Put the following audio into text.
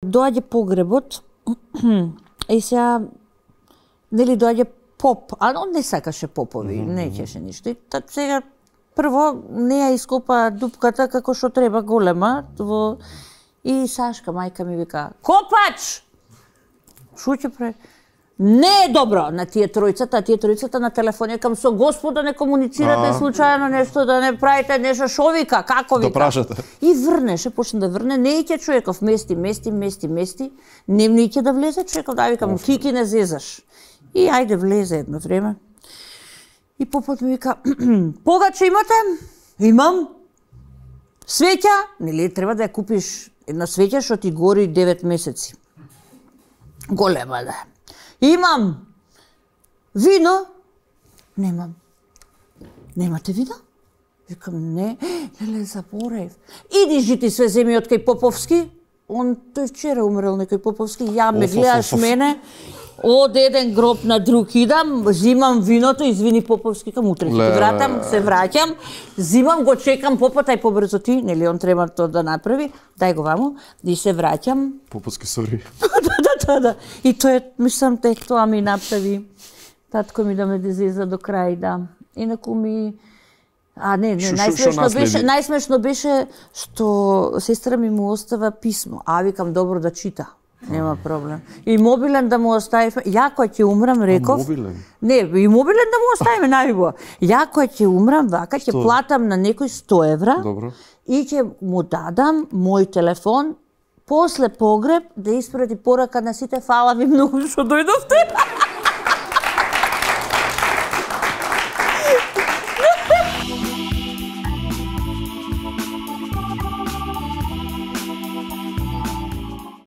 доаѓа погребот и сега нели доаѓа поп, а он не сакаше попови, не ќеше ништо. И сега прво не ја ископа дупката како што треба голема и Сашка мајка ми вика: "Копач!" Шо ќе прави? Не е добро на тие тројцата на телефон кам со Господа не комуницирате случајно нешто, да не правите нешто, шо вика, како вика. Да прашате. И врнеше, почна да врне, не иќе човеков мести, не иќе да влезе човеков, да викам, ти не зезаш. И ајде влезе едно време. И попот ми вика: "Погаче имате?" "Имам." "Свеќа?" Нели треба да ја купиш една свеќа што ти гори 9 месеци. Голема да е. "Имам." "Вино?" "Немам." "Немате вино?" Викам: "Не." "Леле, заборев." "Иди жити све земи од кај Поповски." Тој вчера умрел некој Поповски, ја ме гледаш мене, од еден гроб на друг идам, зимам виното, извини Поповски, кам утре ќе вратам, се враќам, зимам го чекам попот, ај побрзо ти, нели он треба тоа да направи, дај го ваму, и се враќам. Поповски сори. Да. И тоа мислам тоа ми направи. Татко ми да ме дезеза до крај, да. Инаку ми најсмешно беше што сестра ми му остава писмо. Викам, добро да чита. Нема проблем. И мобилен да му остави. Ја кога ќе умрам, реков. Мобилен? Не, и мобилен да му оставиме најубаво. Ја кога ќе умрам, вака ќе платам на некој 100 евра. Добро. И ќе му дадам мој телефон после погреб да испрати порака на сите: "Фала ви многу што дојдовте."